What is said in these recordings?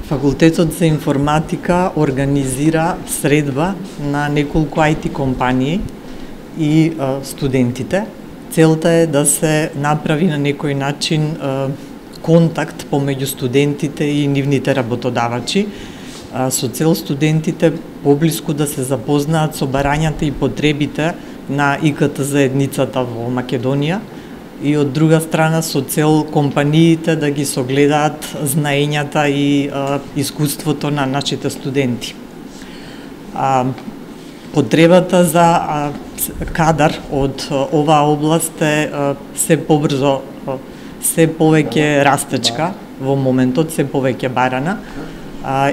Факултетот за информатика организира средба на неколку IT компании и студентите. Целта е да се направи на некој начин контакт помеѓу студентите и нивните работодавачи, со цел студентите поблиску да се запознаат со барањата и потребите на ИКТ заедницата во Македонија, и од друга страна со цел компаниите да ги согледаат знаењата и искуството на нашите студенти. Потребата за кадар од оваа област е се побрзо, се повеќе растечка во моментот, се повеќе барана,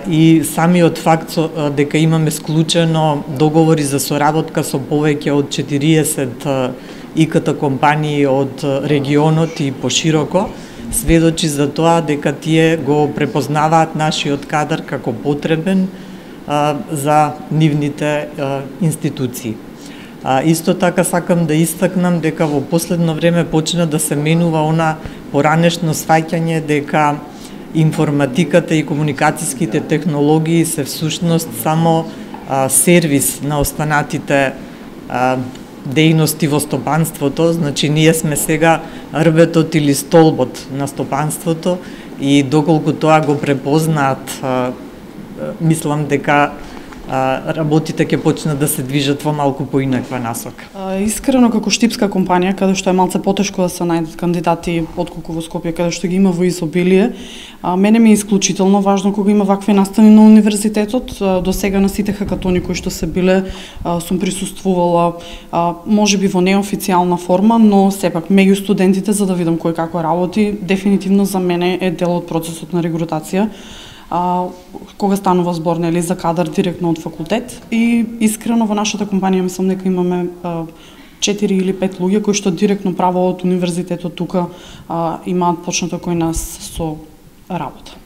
и самиот факт дека имаме склучено договори за соработка со повеќе од 40 ИКТ компании од регионот и пошироко сведочи за тоа дека тие го препознаваат нашиот кадар како потребен за нивните институции. Исто така сакам да истакнам дека во последно време почна да се менува она поранешно сваќање дека информатиката и комуникацијските технологии се всушност само сервис на останатите дејности во стопанството, значи ние сме сега рбетот или столбот на стопанството, и доколку тоа го препознаат, мислам дека работите ќе почнат да се движат во малку поинаква насока. Искрено, како штипска компанија, каде што е малце потешко да се најдат кандидати отколку во Скопје, каде што ги има во изобилие, мене ми е исклучително важно кога има вакви настани на универзитетот. До сега на сите хакатони кои што се биле, сум присуствувала, можеби во неофицијална форма, но сепак меѓу студентите, за да видам кој како работи. Дефинитивно за мене е дел од процесот на регрутација, кога станува збор за кадар директно од факултет. И искрено во нашата компанија мислам дека имаме 4 или 5 луѓе кои што директно право од универзитетот тука имаат почнато кој нас со работа.